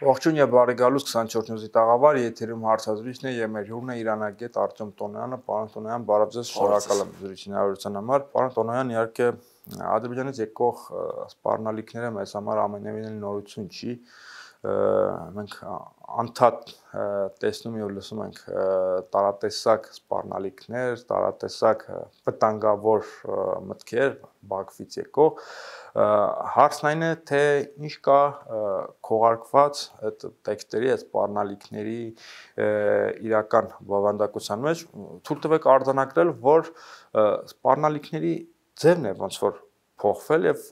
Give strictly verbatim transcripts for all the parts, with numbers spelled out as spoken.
Ողջույն եւ բարի գալուս քսանչորս նյուզի տաղավար, եթերում հարցազրույցն է եւ մեր հյուրն է Իրանագետ Արտյոմ Տոնոյանը։ Պարոն Տոնոյան, բարև ձեզ, շնորհակալ եմ զրույցի հնարավորության համար։ Պարոն Տոնոյան, իհարկե Ադրբեջանից եկող սպառնալիքները մեզ համար ամենևին էլ նորություն չի։ Մենք անդադ տեսնում եւ լսում ենք տարատեսակ սպառնալիքներ, տարատեսակ վտանգավոր մտքեր Բաքվից եկող։ Հարցն այն է, թե ինչ կա քողարկված այդ տեքստերի, այդ սպառնալիքների իրական բովանդակության մեջ, թույլ տվեք արձանագրել, որ սպառնալիքների ձևն է ոնց որ փոխվել եւ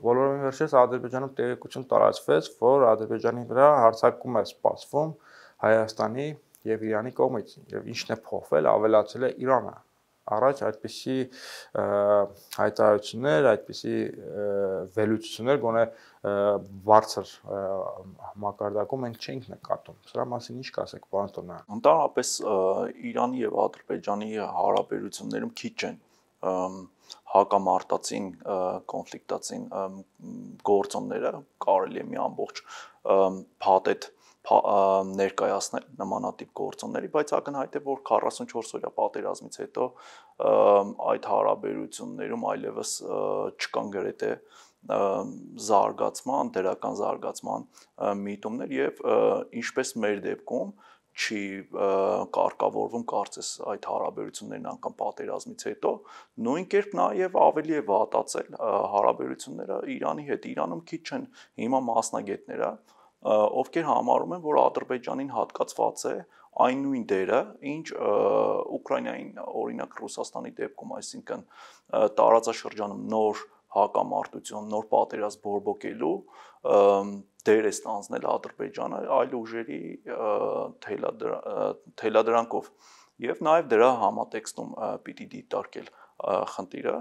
բոլորովին վերջերս Ադրբեջանում տեղեկություն տարածվեց, որ Ադրբեջանի վրա հարձակում է սպասվում Հայաստանի եւ Իրանի կողմից եւ ինչն է փոխվել, ավելացել է Իրանը։ Առաջ այդպիսի հայտարարություններ, այդպիսի վերլուծություններ գոնե բարձր մակարդակում մենք չենք նկատում։ Սրա մասին ինչ կասեք, պարոն Տոնոյան։ Ընդհանրապես Իրանի եւ Ադրբեջանի հարաբերություններում քիչ են հակամարտածին կոնֆլիկտածին գործոնները, կարելի է մի ամբողջ փաթեթ ներկայացնել նմանատիպ գործոնների, բայց ակնհայտ է, որ քառասունչորս օրյա պատերազմից հետո այդ հարաբերություններում այլևս չկան գրեթե զարգացման, դրական զարգացման միտումներ եւ ինչպես մեր դեպքում չի կարգավորվում կարծես այդ հարաբերություններն անգամ պատերազմից հետո, նույն կերպ նաեւ ավելի է վատացել հարաբերությունները Իրանի հետ։ Իրանում քիչ են հիմա մասնագետները, ովքեր համարում են, որ Ադրբեջանին հատկացված է այն նույն դերը, ինչ Ուկրաինային, օրինակ Ռուսաստանի դեպքում, այսինքն տարածաշրջանում նոր հակամարտություն, նոր պատերազմ բորբոքելու դեր է ստանձնել Ադրբեջանը այլ ուժերի թելադրանքով եւ նաեւ դրա համատեքստում պիտի դիտարկել խնդիրը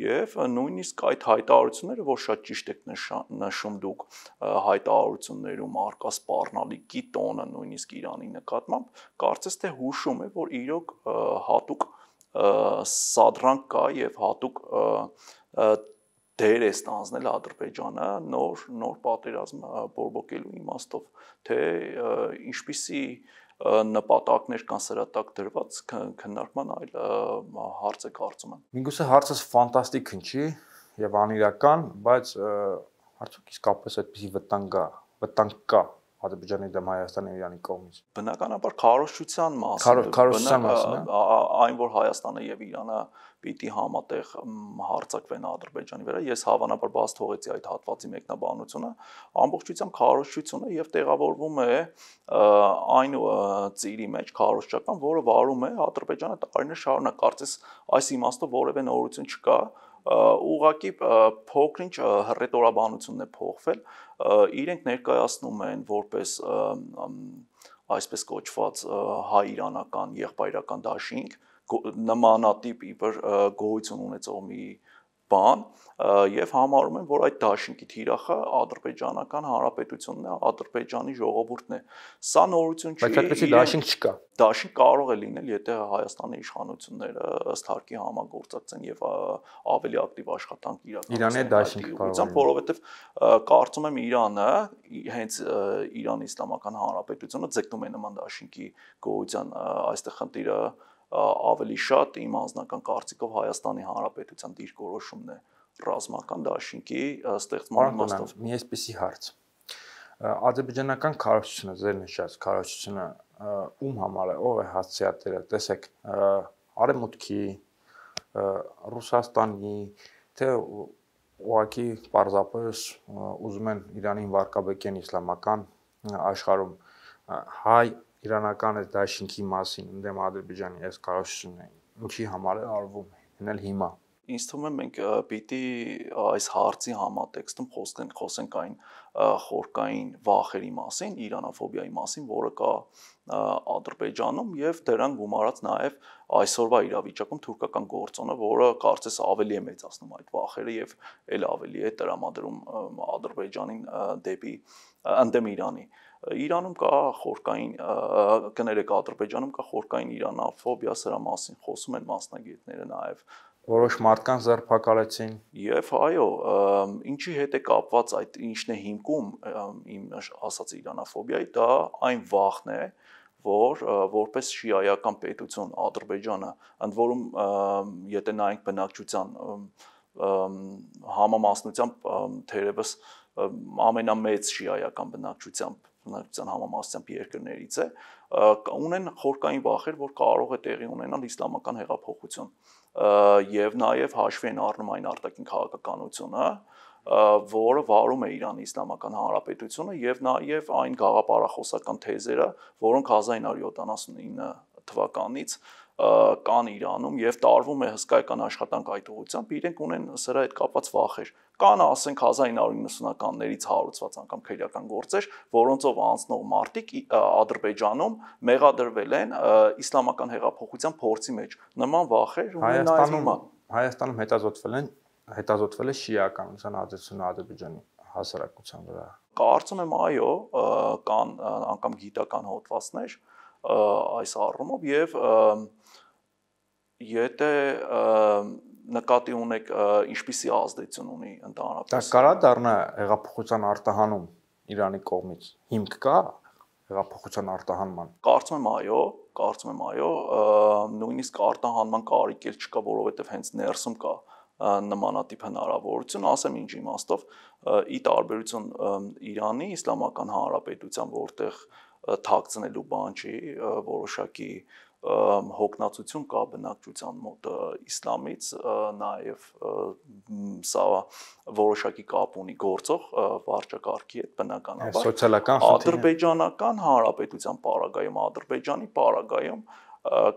եւ նույնիսկ այդ հայտարարությունները, որ շատ ճիշտ եք նշում դուք, հայտարարություններում արկա սպառնալիքի տոնը նույնիսկ Իրանի նկատմամբ, կարծես թե հուշում է, որ իրոք հատուկ սադրանք կա եւ հատուկ դեր է ստանձնել Ադրբեջանը նոր նոր պատերազմ բորբոքելու իմաստով, թե ինչպիսի նպատակներ կան սրա տակ դրված քննարկման այլ հարց է կարծում եմ։ Միգուցե հարցս ֆանտաստիկ հնչի եւ անիրական, բայց արդյոք իսկապես այդպիսի վտանգ կա, վտանգ կա Ադրբեջանի դեմ Հայաստանի եւ Իրանի կողմից։ Բնականաբար քարոզչության մասին, քարոզչության մասին, այն որ Հայաստանը եւ Իրանը պիտի համատեղ հարձակվեն Ադրբեջանի վրա, ես հավանաբար բաց թողեցի այդ հատվածի մեկնաբանությունը, ամբողջությամբ քարոզչությունը եւ տեղավորվում է այն ծիրի մեջ քարոզչական, որը վարում է Ադրբեջանը տարիներ շարունակ, կարծես այս իմաստով որևէ նորություն չկա, ուղղակի փոքրինչ հռետորաբանությունն է փոխվել, իրենք ներկայացնում են որպես այսպես կոչված հայ-իրանական եղբայրական դաշինք, նմանատիպ իբր գոյություն ունեցող մի բան եւ համարում են, որ այդ դաշինքի թիրախը Ադրբեջանական Հանրապետությունն է, Ադրբեջանի ժողովուրդն է։ Սա նորություն չի։ Բայց այդպեսի դաշինք չկա։ Դաշինք կարող է լինել, եթե Հայաստանի իշխանությունները ըստ հարկի համագործակցեն եւ ավելի ակտիվ աշխատանք իրականացնեն։ Իրանի դաշինք կարող է, որովհետեւ կարծում եմ Իրանը հենց Իրանի Իսլամական Հանրապետությունը ձգտում է նման դաշինքի գոյության, այստեղ խնդիրը ավելի շատ իմ անձնական կարծիքով Հայաստանի Հանրապետության դիրքորոշումն է ռազմական դաշինքի ստեղծման իմաստով։ Մի այսպիսի հարց։ Ադրբեջանական քարոզչությունը, ձեր նշած քարոզչությունը ում համար է, ով է հասցեատերը, տեսեք, Արևմուտքի, Ռուսաստանի, թե ուղղակի պարզապես ուզում են Իրանին վարկաբեկեն իսլամական աշխարհում հայ իրանական այս դաշինքի մասին ընդդեմ Ադրբեջանի այս քարոզչությունը ինչի համար է արվում, հենց հիմա։ Ինձ թվում է մենք պիտի այս հարցի համատեքստում խոսենք խոսենք այն խորքային վախերի մասին, իրանոֆոբիայի մասին, որը կա Ադրբեջանում եւ դրան գումարած նաեւ այսօրվա իրավիճակում թուրքական գործոնը, որը կարծես ավելի է մեծացնում այդ վախերը եւ ել ավելի է տրամադրում Ադրբեջանին դեպի ընդդեմ Իրանի։ Իրանում կա խորքային կներեք Ադրբեջանում կա խորքային իրանոֆոբիա, սրա մասին խոսում են մասնագետները նաեւ Որոշ մարդկանց ձերբակալեցին։ Եվ այո, ինչի հետ է կապված այդ ինչն է հիմքում իմ ասած իրանաֆոբիայի, դա այն վախն է, որ որպես շիայական պետություն Ադրբեջանը, ընդ որում եթե նայենք բնակչության համամասնությամբ թերևս ամենամեծ շիայական բնակչությամբ բնակչության համամասնությամբ երկրներից է, ունեն խորքային վախեր, որ կարող է տեղի ունենալ իսլամական հեղափոխություն եւ նաեւ հաշվի են առնում այն արտաքին քաղաքականությունը, որը վարում է Իրանի Իսլամական Հանրապետությունը եւ նաեւ այն գաղափարախոսական թեզերը, որոնք հազար ինը հարյուր յոթանասունինը թվականից կան Իրանում եւ տարվում է հսկայական աշխատանք այդ ուղղությամբ, իրենք ունեն սրա հետ կապված վախեր։ Կան, ասենք, հազար ինը հարյուր իննսունականներից հարուցված անգամ քրեական գործեր, որոնցով անցնող մարդիկ Ադրբեջանում մեղադրվել են իսլամական հեղափոխության փորձի մեջ։ Նման վախեր ունեն նաեւ հիմա։ Հայաստանում հետազոտվել են, հետազոտվել է շիականության ազդեցությունը Ադրբեջանի հասարակության վրա։ Կարծում եմ, այո, կան անգամ գիտական հոդվածներ այս առումով եւ եթե նկատի ունեք ինչպիսի ազդեցություն ունի ընդհանրապես։ Դա կարա դառնա հեղափոխության արտահանում Իրանի կողմից։ Հիմք կա հեղափոխության արտահանման։ Կարծում եմ, այո, կարծում եմ, այո, նույնիսկ արտահանման կարիք էլ չկա, որովհետեւ հենց ներսում կա նմանատիպ հնարավորություն, ասեմ ինչ իմաստով, ի տարբերություն Իրանի Իսլամական Հանրապետության, որտեղ թաքցնելու բան չի, որոշակի հոգնածություն կա բնակչության մոտ իսլամից, նաև սա որոշակի կապ ունի գործող վարչակարգի հետ բնականաբար։ Սոցիալական խնդիրը Ադրբեջանական Հանրապետության պարագայում, Ադրբեջանի պարագայում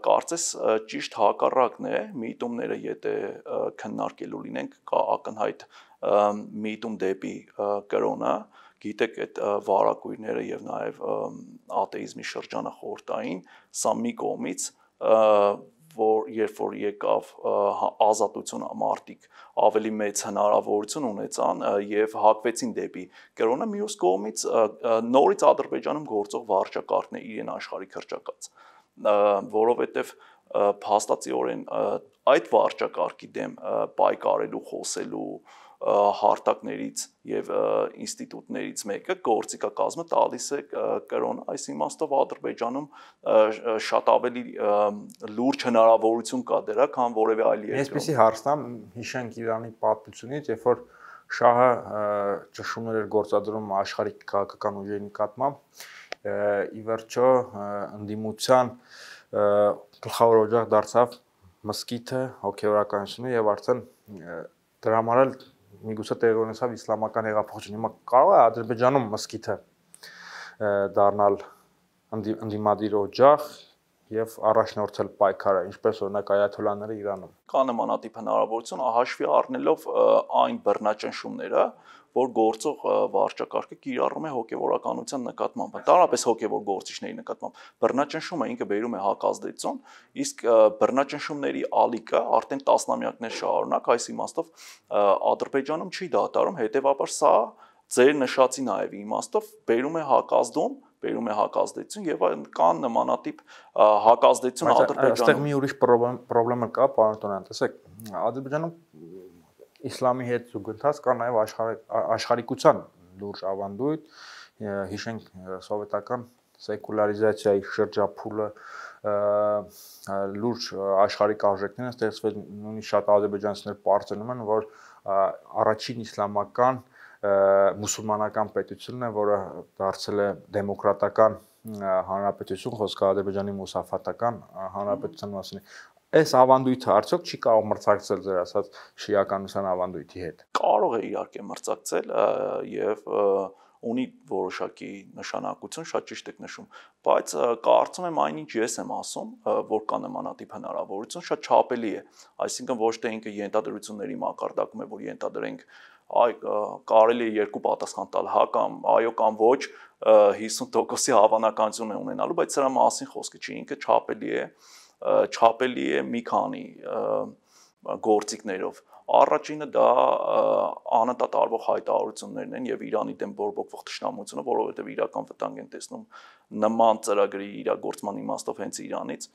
կարծես ճիշտ հակառակն է, միտումները եթե քննարկելու լինենք, կա ակնհայտ միտում դեպի կրոնը, գիտեք այդ վարակույրները եւ նաեւ աթեիզմի շրջանը խորտային, սա մի կողմից, որ երբ որ եկավ ազատությունը մարդիկ ավելի մեծ հնարավորություն ունեցան եւ հակվեցին դեպի կրոնը, մյուս կողմից նորից Ադրբեջանում գործող վարչակարգն է իրեն աշխարհի քրճակած, որովհետեւ փաստացիորեն այդ վարչակարգի դեմ պայքարելու, խոսելու հարթակներից եւ ինստիտուտներից մեկը գործիքակազմը տալիս է կրոնը, այս իմաստով Ադրբեջանում շատ ավելի լուրջ հնարավորություն կա դրա, քան որևէ այլ երկրում։ Այսպեսի հարցնամ, հիշենք Իրանի պատմությունից, երբ որ շահը ճշումներ էր գործադրում աշխարհիկ քաղաքական ուժերի նկատմամբ, ի վերջո ընդդիմության գլխավոր օջախ դարձավ մզկիթը, հոգեվորականությունը եւ արդեն դրա համար էլ միգուցե տեղի ունեցավ իսլամական հեղափոխություն։ Հիմա կարող է Ադրբեջանում մզկիթը դառնալ ընդդիմադիր օջախ եւ առաջնորդել պայքարը, ինչպես օրինակ այաթոլլաները Իրանում։ Կա նմանատիպ հնարավորություն, հաշվի առնելով այն բռնաճնշումները, որ գործող վարչակարգը կիրառում է հոգեվորականության նկատմամբ, ընդհանրապես հոգեվոր գործիչների նկատմամբ։ Բռնաճնշումը ինքը բերում է հակազդեցություն, իսկ բռնաճնշումների ալիքը արդեն տասնամյակներ շարունակ, այս իմաստով Ադրբեջանում չի դադարում, հետեւաբար սա ձեր նշածի նաեւ իմաստով բերում է հակազդում, բերում է հակազդեցություն եւ կան նմանատիպ հակազդեցություն Ադրբեջանում։ Այստեղ մի ուրիշ խնդրեմ կա, պարոն Տոնյան, տեսեք, Ադրբեջանում իսլամի հետ զուգընթաց կա նաև աշխարհիկության լուրջ ավանդույթ, հիշենք սովետական սեկուլարիզացիայի շրջափուլը, լուրջ աշխարհիկ արժեքներ են ստեղծվել, նույնիսկ շատ ադրբեջանցիներ պարզանում են, որ առաջին իսլամական մուսուլմանական պետությունն է, որը դարձել է դեմոկրատական հանրապետություն, խոսքը Ադրբեջանի մուսաֆատական հանրապետության մասին է։ Այս ավանդույթը արդյոք չի կարող մրցակցել ձեր ասած շիականության ավանդույթի հետ։ Կարող է իհարկե մրցակցել եւ ունի որոշակի նշանակություն, շատ ճիշտ եք նշում, բայց կարծում եմ այնինչ ես եմ ասում, որ կա նմանատիպ հնարավորություն, շատ չափելի է, այսինքն ոչ թե ինքը ենթադրությունների մակարդակում է, որ ենթադրենք այ կարելի է երկու պատասխան տալ, հա կամ այո կամ ոչ, հիսուն տոկոսի հավանականություն է ունենալու, բայց սրա մասին խոսքը չի, ինքը չափելի է, չափելի է մի քանի գործիքներով, Առաջինը դա անընդհատ արվող հայտարարություններն են եւ Իրանի դեմ բորբոքվող թշնամությունը, որովհետեւ իրական վտանգ են տեսնում նման ծրագրի իրագործման իմաստով հենց Իրանից։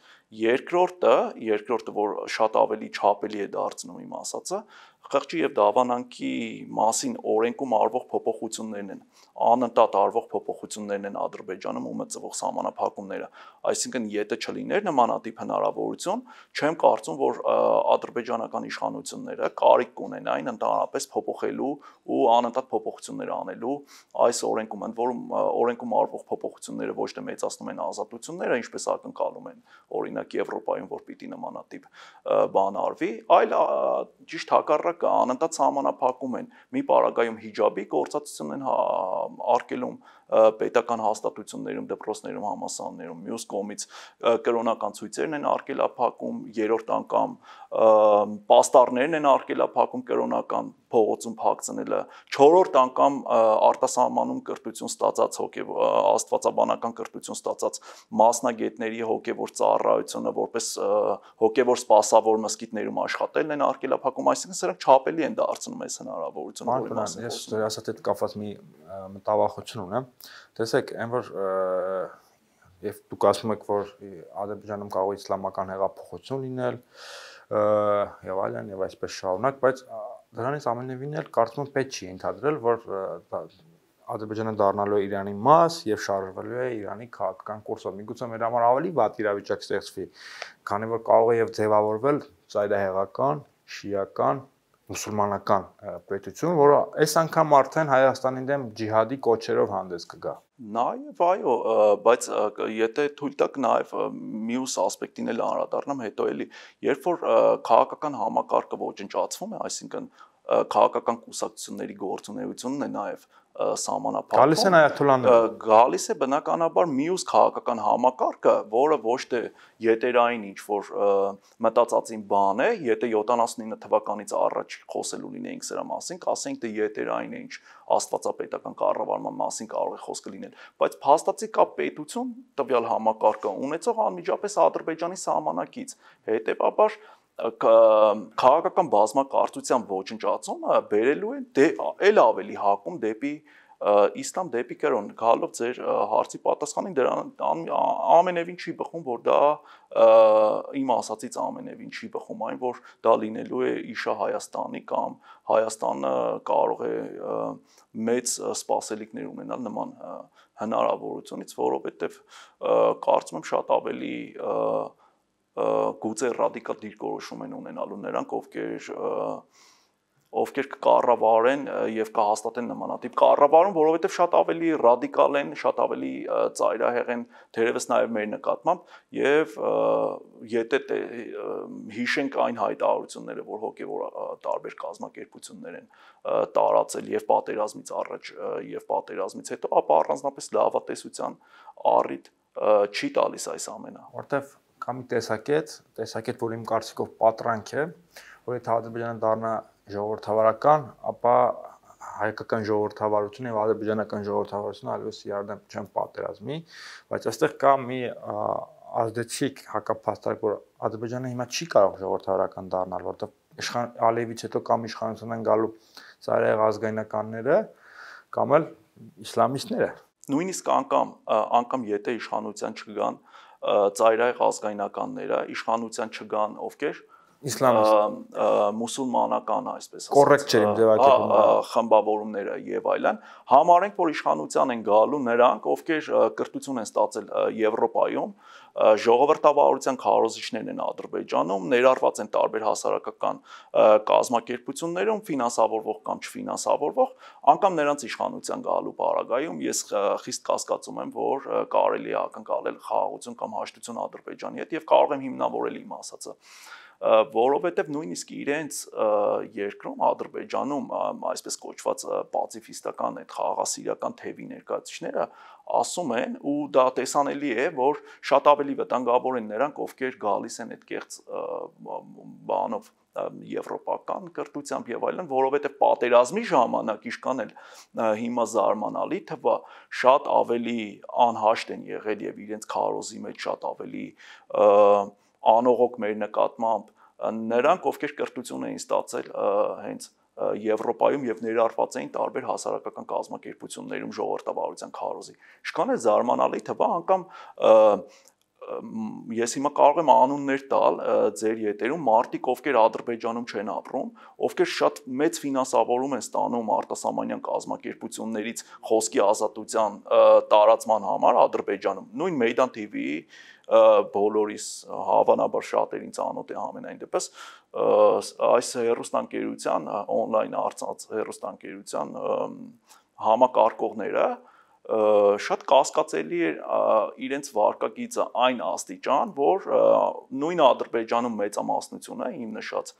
Երկրորդը, երկրորդը, որ շատ ավելի չափելի է դարձնում իմ ասածը, խղճի եւ դավանանքի մասին օրենքում արվող փոփոխություններն են, անընդհատ արվող փոփոխություններն են Ադրբեջանում ու մտցվող սահմանափակումները։ Այսինքն, եթե չլիներ նմանատիպ հնարավորություն, չեմ կարծում, որ ադրբեջանական իշխանությունները կարիք կունենային ընդհանրապես փոփոխելու ու անընդհատ փոփոխություններ անելու այս օրենքում, ընդ որում օրենքում արվող փոփոխությունները ոչ թե մեծացնում են ազատությունները, ինչպես ակնկալում են օրինակ Եվրոպայում, որ պիտի նմանատիպ բան արվի, այլ ճիշտ հակառակը անընդհատ սահմանափակում են։ Մի պարագայում հիջաբի գործածություն են արգելում պետական հաստատություններում, դպրոցներում, համալսարաններում, մյուս կողմից կրոնական ցույցերն են արգելափակում, երրորդ անգամ պաստառներն են արգելափակում կրոնական փողոցում փակցնելը, չորրորդ անգամ արտասահմանում կրթություն ստացած հոգեվոր աստվածաբանական կրթություն ստացած մասնագետների հոգեվոր ծառայությունը որպես հոգեվոր սպասավոր մզկիթներում աշխատելն են արգելափակում, այսինքն սրանք չափելի են դարձնում այս հնարավորությունը, որի մասին ես ասած հետ կապված մի մտավախություն ունեմ։ Տեսեք, այն որ եւ դուք ասում եք, որ Ադրբեջանում կարող է իսլամական հեղափոխություն լինել եւ այլն եւ այսպես շարունակ, բայց դրանից ամենևին էլ կարծում եմ պետք չի ընդհանրել, որ Ադրբեջանը դառնալու է Իրանի մաս եւ շարժվելու է Իրանի քաղաքական կուրսով։ Միգուցե մեր համար ավելի վատ իրավիճակ ստեղծվի, քանի որ կարող է եւ ձևավորվել ծայրահեղական, շիական, մուսուլմանական պետություն, որը այս անգամ արդեն Հայաստանի դեմ ջիհադի կոչերով հանդես կգա։ Նաեւ այո, բայց եթե թույլ տաք նաեւ մյուս ասպեկտին էլ անդրադառնամ հետո էլի, երբ որ քաղաքական համակարգը ոչնչացվում է, այսինքն քաղաքական կուսակցությունների գործունեությունն է նաեւ սահմանափակվում։ Գալիս են այաթոլլաները։ Գալիս է բնականաբար մյուս քաղաքական համակարգը, որը ոչ թե յետերային ինչ որ մտածածին բան է, եթե յոթանասունինը թվականից առաջ խոսելու լինեինք սրա մասին, կասենք թե յետերային է ինչ աստվածապետական կառավարման մասին կարող է խոսքը լինել, բայց փաստացի կա պետություն տվյալ համակարգը ունեցող անմիջապես Ադրբեջանի սահմանակից, հետեւաբար քաղաքական բազմակարծության ոչնչացումը բերելու է էլ ավելի հակում դեպի իսլամ, դեպի կրոն, գալով ձեր հարցի պատասխանին, դրան ամենևին չի բխում, որ դա իմ ասածից ամենևին չի բխում, այն որ դա լինելու է իշա Հայաստանի կամ Հայաստանը կարող է մեծ սպասելիքներ ունենալ նման հնարավորությունից, որովհետև կարծում եմ շատ ավելի գուցե ռադիկալ դիրքորոշում են ունենալու նրանք, ովքեր ովքեր կկառավարեն եւ կհաստատեն նմանատիպ կառավարում, որովհետեւ շատ ավելի ռադիկալ են, շատ ավելի ծայրահեղ են թերևս նաեւ մեր նկատմամբ եւ եթե հիշենք այն հայտարարությունները, որ հոգեվոր տարբեր կազմակերպություններ են տարածել եւ պատերազմից առաջ եւ պատերազմից հետո, ապա առանձնապես լավատեսության առիթ չի տալիս այս ամենը։ Որտեւ կա մի տեսակետ, տեսակետ, որ իմ կարծիքով պատրանք է, որ եթե Ադրբեջանը դառնա ժողովրդավարական, ապա հայկական ժողովրդավարությունը եւ ադրբեջանական ժողովրդավարությունը այլևս իրար չեն պատերազմի, բայց այստեղ կա մի ազդեցիկ հակափաստարկ, որ Ադրբեջանը հիմա չի կարող ժողովրդավարական դառնալ, որտեղ իշխան Ալիևից հետո կամ իշխանության են գալու ծայրահեղ ազգայնականները կամ էլ իսլամիստները։ Նույնիսկ անգամ անգամ եթե իշխանության չգան ծայրահեղ ազգայնականները, իշխանության չգան ովքեր իսլամիստ մուսուլմանական, այսպես ասած, կոռեկտ չէ իմ ձևակերպումը, խմբավորումները եւ այլն, համարենք, որ իշխանության են գալու նրանք, ովքեր կրթություն են ստացել Եվրոպայում, ժողովրդավարության քարոզիչներն են Ադրբեջանում, ներառված են տարբեր հասարակական կազմակերպություններում, ֆինանսավորվող կամ չֆինանսավորվող, անգամ նրանց իշխանության գալու պարագայում ես խիստ կասկածում եմ, որ կարելի է ակնկալել խաղաղություն կամ հաշտություն Ադրբեջանի հետ եւ կարող եմ հիմնավորել իմ ասածը, որովհետև նույնիսկ իրենց երկրում Ադրբեջանում այսպես կոչված պացիֆիստական այդ խաղաղասիրական թևի ներկայացուցիչները ասում են ու դա տեսանելի է, որ շատ ավելի վտանգավոր են նրանք, ովքեր գալիս են այդ կեղծ բանով եվրոպական կրթությամբ եւ այլն, որովհետեւ պատերազմի ժամանակ իշքան էլ հիմա զարմանալի թվա շատ ավելի անհաշտ են եղել եւ իրենց քարոզի մեջ շատ ավելի անողոք մեր նկատմամբ նրանք ովքեր կրթություն էին ստացել հենց Եվրոպայում եւ ներառված էին տարբեր հասարակական կազմակերպություններում ժողովրդավարության քարոզի։ Ինչքան է զարմանալի թվա անգամ ես հիմա կարող եմ անուններ տալ ձեր ետերում մարդիկ, ովքեր Ադրբեջանում չեն ապրում, ովքեր շատ մեծ ֆինանսավորում են ստանում արտասահմանյան կազմակերպություններից խոսքի ազատության տարածման համար Ադրբեջանում։ Նույն Meydan T V-ի բոլորիս հավանաբար շատերին ծանոթ է համենայն դեպս այս հեռուստաընկերության on-line արծած հեռուստաընկերության համակարգողները շատ կասկածելի էր իրենց վարկագիծը այն աստիճան, որ նույն Ադրբեջանում մեծամասնությունը իմ նշած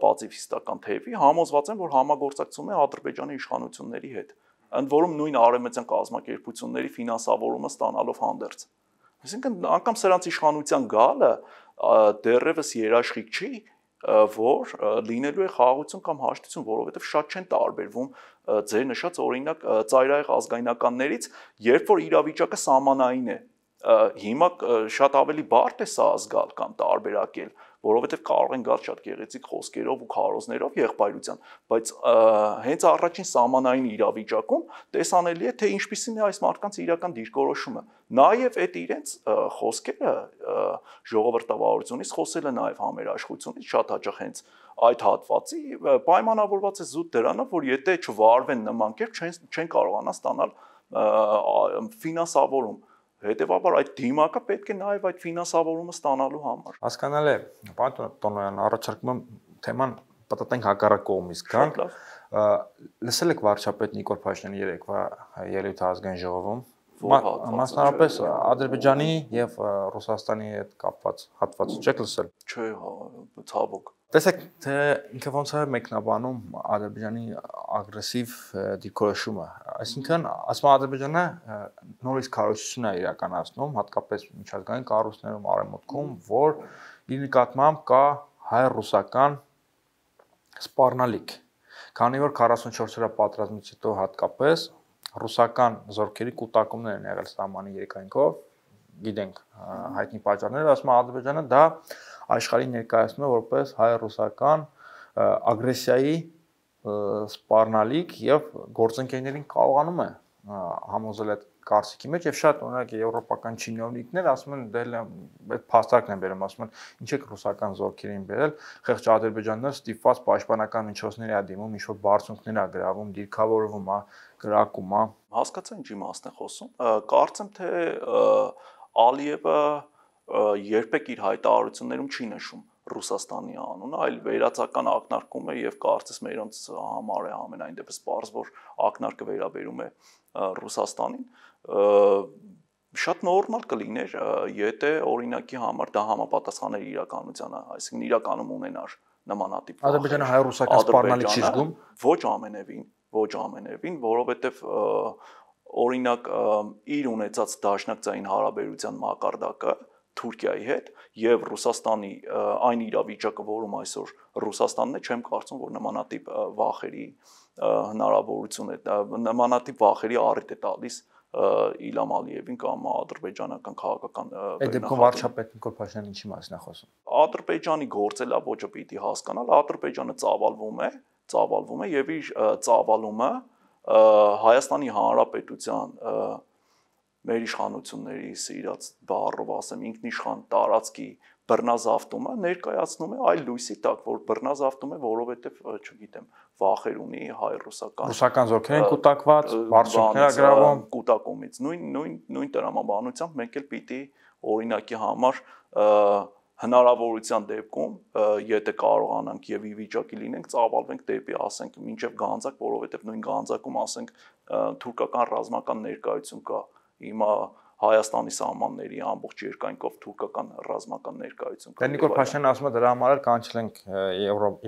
պացիֆիստական թևի համոզված են, որ համագործակցում է Ադրբեջանի իշխանությունների հետ, ընդ որում նույն արևմտյան կազմակերպությունների ֆինանսավորումը ստանալով հանդերձ։ Այսինքն անգամ սրանց իշխանության գալը դեռևս երաշխիք չի, որ լինելու է խաղաղություն կամ հաշտություն, որովհետև շատ չեն տարբերվում ձեր նշած օրինակ ծայրահեղ ազգայնականներից, երբ որ իրավիճակը սահմանային է։ Հիմա շատ ավելի բարդ է սա զգալ կամ տարբերակել, որովհետև կարող են գալ շատ գեղեցիկ խոսքերով ու քարոզներով եղբայրության, բայց հենց առաջին սահմանային իրավիճակում տեսանելի է, թե ինչպիսին է այս մարդկանց իրական դիրքորոշումը։ Նաև այդ իրենց խոսքերը ժողովրդավարությունից խոսել է նաև համերաշխությունից շատ հաճախ հենց այդ հատվածի պայմանավորված է զուտ դրանով, որ եթե չվարվեն նման կերպ չեն, չեն կարողանա ստանալ ֆինանսավորում։ Հետևաբար այդ դիմակը պետք է նաև այդ ֆինանսավորումը ստանալու համար։ Հասկանալի է, պարոն Տոնոյան, առաջարկում եմ թեման պատտենք հակառակ կողմից գանք։ Լսել եք վարչապետ Նիկոլ Փաշինյանի երեկվա ելույթը ազգային ժողովում, մասնավորապես Ադրբեջանի եւ Ռուսաստանի հետ կապված հատվածը չեք լսել։ Չէ, ցավոք։ Տեսեք, թե ինքը ոնց է մեկնաբանում Ադրբեջանի ագրեսիվ դիրքորոշումը, այսինքն ասում Ադրբեջանը նորից քարոզություն է իրականացնում, հատկապես միջազգային կառույցներում արևմուտքում, որ իր նկատմամբ կա հայ-ռուսական սպառնալիք, քանի որ քառասունչորս օրյա պատերազմից հետո հատկապես ռուսական զորքերի կուտակումներ են եղել սահմանի երկայնքով, գիտենք հայտնի պատճառները, ասում Ադրբեջանը դա աշխարհին ներկայացնում է որպես հայ-ռուսական ագրեսիայի սպառնալիք եւ գործընկերներին կարողանում է համոզել այդ կարծիքի մեջ եւ շատ օրինակ եվրոպական չինովնիկներ ասում են դել այդ փաստարկն են բերում, ասում են ինչ եք ռուսական զորքերին բերել, խեղճ ադրբեջանները ստիպված պաշտպանական միջոցների ա դիմում, ինչ որ բարձունքներ ա գրավում, դիրքավորվում ա, գրակում ա։ Հասկացա ինչ իմաստ է խոսում։ Կարծեմ թե Ալիևը երբեք իր հայտարարություններում չի նշում Ռուսաստանի անունը, այլ վերացական ակնարկում է եւ կարծես մերոնց համար է ամենայն դեպս պարզ, որ ակնարկը վերաբերում է Ռուսաստանին։ Շատ նորմալ կլիներ, եթե օրինակի համար դա համապատասխաներ իրականությանը, այսինքն իրականում ունենար նմանատիպ վախեր։ Ադրբեջանը հայ-ռուսական սպառնալիք չի զգում։ Ոչ ամենևին, ոչ ամենևին, որովհետեւ օրինակ իր ունեցած դաշնակցային հարաբերության մակարդակը Թուրքիայի հետ եւ Ռուսաստանի այն իրավիճակը, որում այսօր Ռուսաստանն է, չեմ կարծում, որ նմանատիպ վախերի հնարավորություն է, նմանատիպ վախերի առիթ է տալիս Իլհամ Ալիևին կամ ադրբեջանական քաղաքական Այդ դեպքում վարչապետ Նիկոլ Փաշինյանը ինչի մասին է խոսում։ Ադրբեջանի գործելավոճը պիտի հասկանալ, Ադրբեջանը ծավալվում է, ծավալվում է եւ իր ծավալումը Հայաստանի Հանրապետության մեր իշխանությունների սիրած բառով ասեմ ինքնիշխան տարածքի բռնազավթումը ներկայացնում է այլ լույսի տակ, որ բռնազավթում է, որովհետև, չգիտեմ, վախեր ունի հայ-ռուսական ռուսական զորքեր են կուտակված, բարձունքներ գրավում կուտակումից։ Նույն նույն նույն տրամաբանությամբ մենք էլ պիտի օրինակի համար հնարավորության դեպքում, եթե կարողանանք եւ ի վիճակի լինենք, ծավալվենք դեպի, ասենք, մինչեւ Գանձակ, որովհետեւ նույն Գանձակում, ասենք, թուրքական ռազմական ներկայություն կա։ Հիմա Հայաստանի սահմանների ամբողջ երկայնքով թուրքական ռազմական ներկայություն կա։ Նիկոլ Փաշինյանը ասում է դրա համար էլ կանչել ենք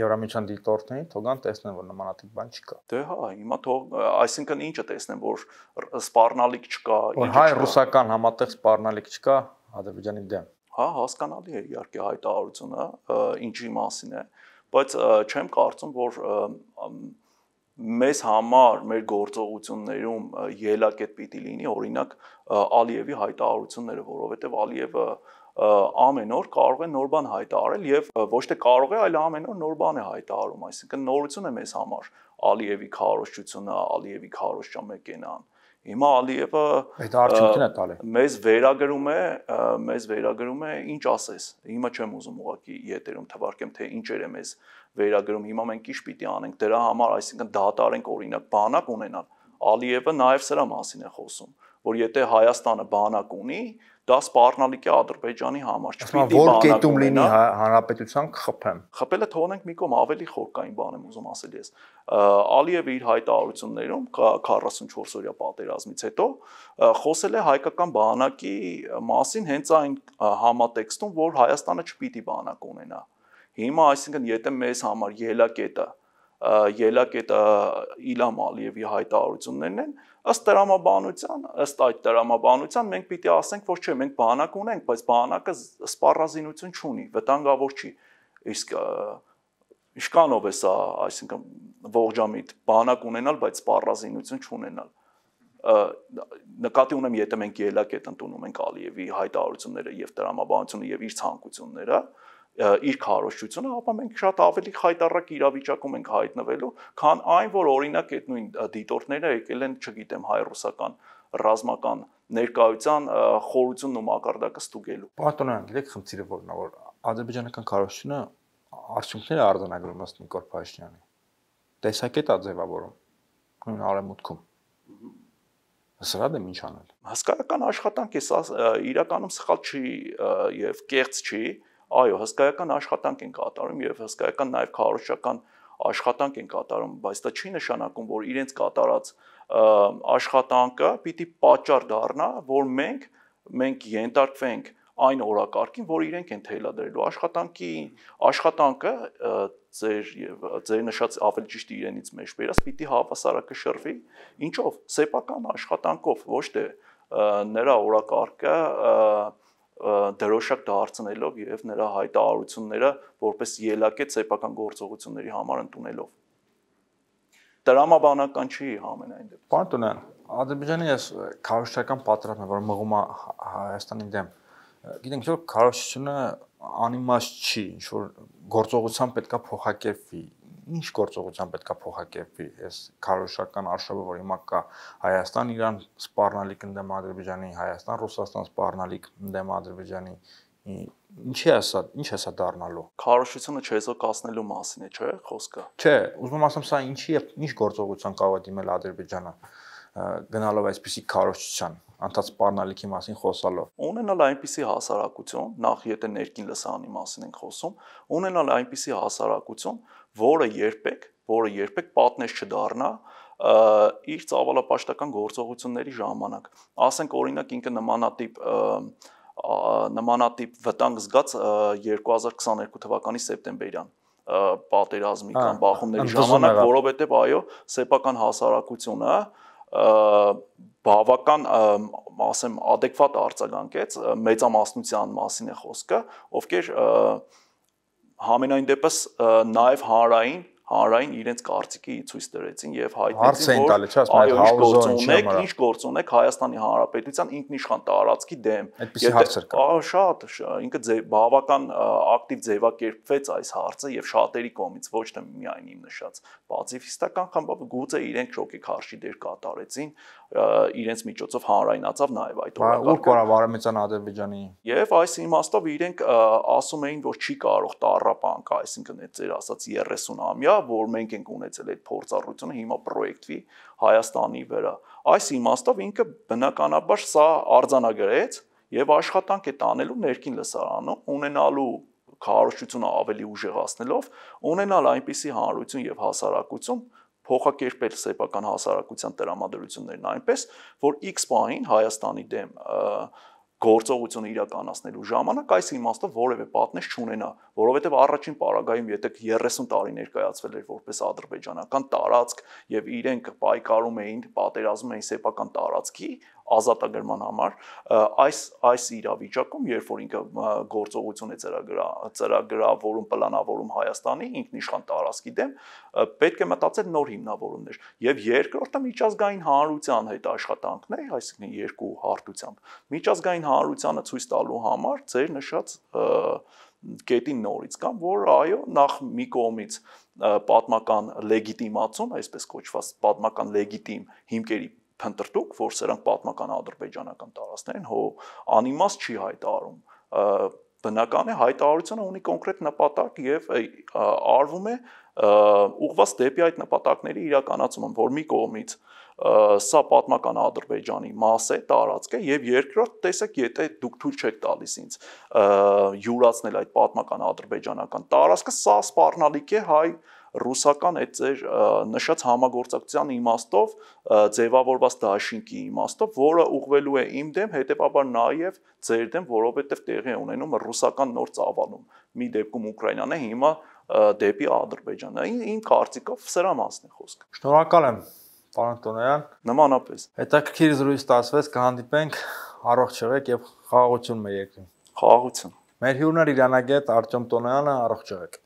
Եվրամիության դիտորդներին, թողան տեսնեն, որ նմանատիպ բան չկա։ Դե հա, հիմա թող, այսինքն ինչը տեսնեն, որ սպառնալիք չկա, որ հայ-ռուսական համատեղ սպառնալիք չկա Ադրբեջանի դեմ։ Հա, հասկանալի է իհարկե հայտարարությունը, ինչի մասին է, բայց չեմ կարծում, որ մեզ համար մեր գործողություններում ելակետ պիտի լինի օրինակ Ալիևի հայտարարությունները, որովհետև Ալիևը ամեն օր կարող է նոր բան հայտարարել եւ ոչ թե կարող է, այլ ամեն օր նոր բան է հայտարարում, այսինքն նորություն է մեզ համար Ալիևի քարոզչությունը, Ալիևի քարոզչամեկենան։ Հիմա Ալիևը այդ արդյունքն է տալի։ Մեզ վերագրում է, մեզ վերագրում է, ինչ ասես։ Հիմա չեմ ուզում ուղղակի եթերում թվարկեմ, թե ինչեր է մեզ վերագրում։ Հիմա մենք ինչ պիտի անենք դրա համար, այսինքն դատարենք օրինակ բանակ ունենալ։ Ալիևը նաև սրա մասին է խոսում, որ եթե Հայաստանը բանակ ունի, դա սպառնալիք է Ադրբեջանի համար։ Չպիտի որ կետում լինի հանրապետության կխփեմ։ Խփելը թողնենք մի կողմ, ավելի խորքային բան եմ ուզում ասել ես։ Ալիևը իր հայտարարություններում քառասունչորս օրյա պատերազմից հետո խոսել է հայկական բանակի մասին հենց այն համատեքստում, որ Հայաստանը չպիտի բանակ ունենա։ Հիմա այսինքն եթե մեզ համար ելակետը ելակետը Իլհամ Ալիևի հայտարարություններն են, ըստ տրամաբանության, ըստ այդ տրամաբանության մենք պիտի ասենք, որ չէ, մենք բանակ ունենք, բայց բանակը սպառազինություն չունի, վտանգավոր չի։ Իսկ իշքանով է սա, այսինքն ողջամիտ բանակ ունենալ, բայց սպառազինություն չունենալ։ Նկատի ունեմ, եթե մենք ելակետ ընդունում ենք Ալիևի հայտարարությունները եւ տրամաբանությունը եւ իր ցանկությունները, իր քարոզչությունը, ապա մենք շատ ավելի խայտառակ իրավիճակում ենք հայտնվելու, քան այն, որ օրինակ այդ նույն դիտորդները եկել են, չգիտեմ, հայ-ռուսական ռազմական ներկայության խորությունն ու մակարդակը ստուգելու։ Պարտոնյան, գիտեք խնդիրը որն է, որ ադրբեջանական քարոզչությունը արդյունքներ է արձանագրում ըստ Նիկոլ Փաշինյանի։ Տեսակետ է ձևավորում նույն արևմուտքում։ Սրա դեմ ինչ անել։ Հսկայական աշխատանք է, սա իրականում սխալ չի եւ կեղծ չի։ Այո, հսկայական աշխատանք են կատարում եւ հսկայական նաեւ քարոզչական աշխատանք են կատարում, բայց դա չի նշանակում, որ իրենց կատարած աշխատանքը պիտի պատճառ դառնա, որ մենք մենք ենթարկվենք այն օրակարգին, որ իրենք են թելադրելու աշխատանքի աշխատանքը ձեր եւ ձեր նշած ավելի ճիշտ իրենից մեջ բերած պիտի հավասարակշռվի, ինչով սեփական աշխատանքով, ոչ թե նրա օրակարգը դրոշակ դարձնելով եւ նրա հայտարարությունները որպես ելակետ սեփական գործողությունների համար ընդունելով։ Տրամաբանական չի ամենայն դեպքում։ Պարտոնյան, Ադրբեջանի այս քարոզչական պատրաստը, որ մղում է Հայաստանի դեմ, գիտենք, որ քարոզչությունը անիմաստ չի, ինչ որ գործողության պետքա փոխակերպվի։ Ինչ գործողության պետքա փոխակերպվի այս քարոզչական արշավը, որ հիմա կա Հայաստան, Իրան սպառնալիք ընդդեմ Ադրբեջանի, Հայաստան, Ռուսաստան սպառնալիք ընդդեմ Ադրբեջանի։ Ինչի է սա, ինչ է սա դառնալու։ Քարոզչությունը չեզոքացնելու մասին է, չէ՞, խոսքը։ Չէ, ուզում եմ ասեմ, սա ինչի է, ինչ գործողության կարող է դիմել Ադրբեջանը գնալով այսպիսի քարոզչության, անդադ սպառնալիքի մասին խոսալով։ Ունենալ այնպիսի հասարակություն, նախ եթե ներքին լսարանի մասին ենք խոսում, ունենալ այնպիսի հասարակություն, որը երբեք, որը երբեք պատնեշ չդառնա իր ծավալապաշտական գործողությունների ժամանակ։ Ասենք օրինակ ինքը նմանատիպ նմանատիպ վտանգ զգաց երկու հազար քսաներկու թվականի սեպտեմբերյան պատերազմի կամ բախումների ժամանակ, որովհետև այո, սեփական հասարակությունը բավական, ասեմ, adekvat արձագանքեց, մեծամասնության մասին է խոսքը, ովքեր համենայն դեպս նաև հանրային հանրային իրենց կարծիքի ցույց տվեցին եւ հայտնեցին, որ այո, ինչ գործ ունեք, ինչ գործ ունեք Հայաստանի Հանրապետության ինքնիշխան տարածքի դեմ։ Այդպիսի հարցեր կա։ Ահա շատ, ինքը բավական ակտիվ ձևակերպվեց այս հարցը եւ շատերի կողմից, ոչ թե միայն իմ նշած պացիֆիստական խմբը, գուցե իրենք շոկի դեր կատարեցին, իրենց միջոցով հանրայնացավ նաեւ այդ օրակարգը։ Ու կառավարամիցան Ադրբեջանի։ Եվ այս իմաստով իրենք ասում էին, որ չի կարող տառապանք, այսինքն այդ ձեր ասած երեսուն ամյա, որ մենք ենք ունեցել այդ փորձառությունը հիմա պրոյեկտվի Հայաստանի վրա։ Այս իմաստով ինքը բնականաբար սա արձանագրեց եւ աշխատանք է տանելու ներքին լսարանում, ունենալու քարոզչությունը ավելի ուժեղացնելով, ունենալ այնպիսի հանրություն եւ հասարակություն, փոխակերպել սեփական հասարակության տրամադրություններն այնպես, որ X պահին Հայաստանի դեմ գործողությունը իրականացնելու ժամանակ այս իմաստով որևէ պատնեշ չունենա, որովհետև առաջին պարագայում եթե երեսուն տարի ներկայացվել էր որպես ադրբեջանական տարածք եւ իրենք պայքարում էին, պատերազմում էին սեփական տարածքի, ազատագրման համար, այս այս իրավիճակում, երբ որ ինքը գործողություն է ծրագրա ծրագրավորում, պլանավորում Հայաստանի ինքնիշխան տարածքի դեմ, պետք է մտածել նոր հիմնավորումներ։ Եվ երկրորդը միջազգային հանրության հետ աշխատանքն է, այսինքն երկու հարթությամբ։ Միջազգային հանրությանը ցույց տալու համար ձեր նշած կետին նորից կամ որ այո, նախ մի կողմից պատմական լեգիտիմացում, այսպես կոչված պատմական լեգիտիմ հիմքերի փնտրտուք, որ սրանք պատմական ադրբեջանական տարածքներ են, հո անիմաստ չի հայտարարում։ Բնական է հայտարարությունը ունի կոնկրետ նպատակ եւ արվում է ուղղված դեպի այդ նպատակների իրականացումը, որ մի կողմից սա պատմական Ադրբեջանի մաս է, տարածք է եւ երկրորդ տեսեք, եթե դուք թույլ չեք տալիս ինձ յուրացնել այդ պատմական ադրբեջանական տարածքը, սա սպառնալիք է հայ ռուսական այդ ձեր նշած համագործակցության իմաստով ձևավորված դաշինքի իմաստով, որը ուղղվելու է իմ դեմ, հետեւաբար նաեւ ձեր դեմ, որովհետեւ տեղի է ունենում ռուսական նոր ծավալում։ Մի դեպքում Ուկրաինան է, հիմա դեպի Ադրբեջանը։ Իմ կարծիքով սրա մասն է խոսքը։ Շնորհակալ եմ, պարոն Տոնոյան։ Նմանապես։ Հետաքրքիր զրույց ստացվեց, կհանդիպենք, առողջ եղեք եւ խաղաղություն մեր երկրին։ Խաղաղություն։ Մեր հյուրն էր իրանագետ Արտյոմ Տոնոյանը, առողջ եղեք։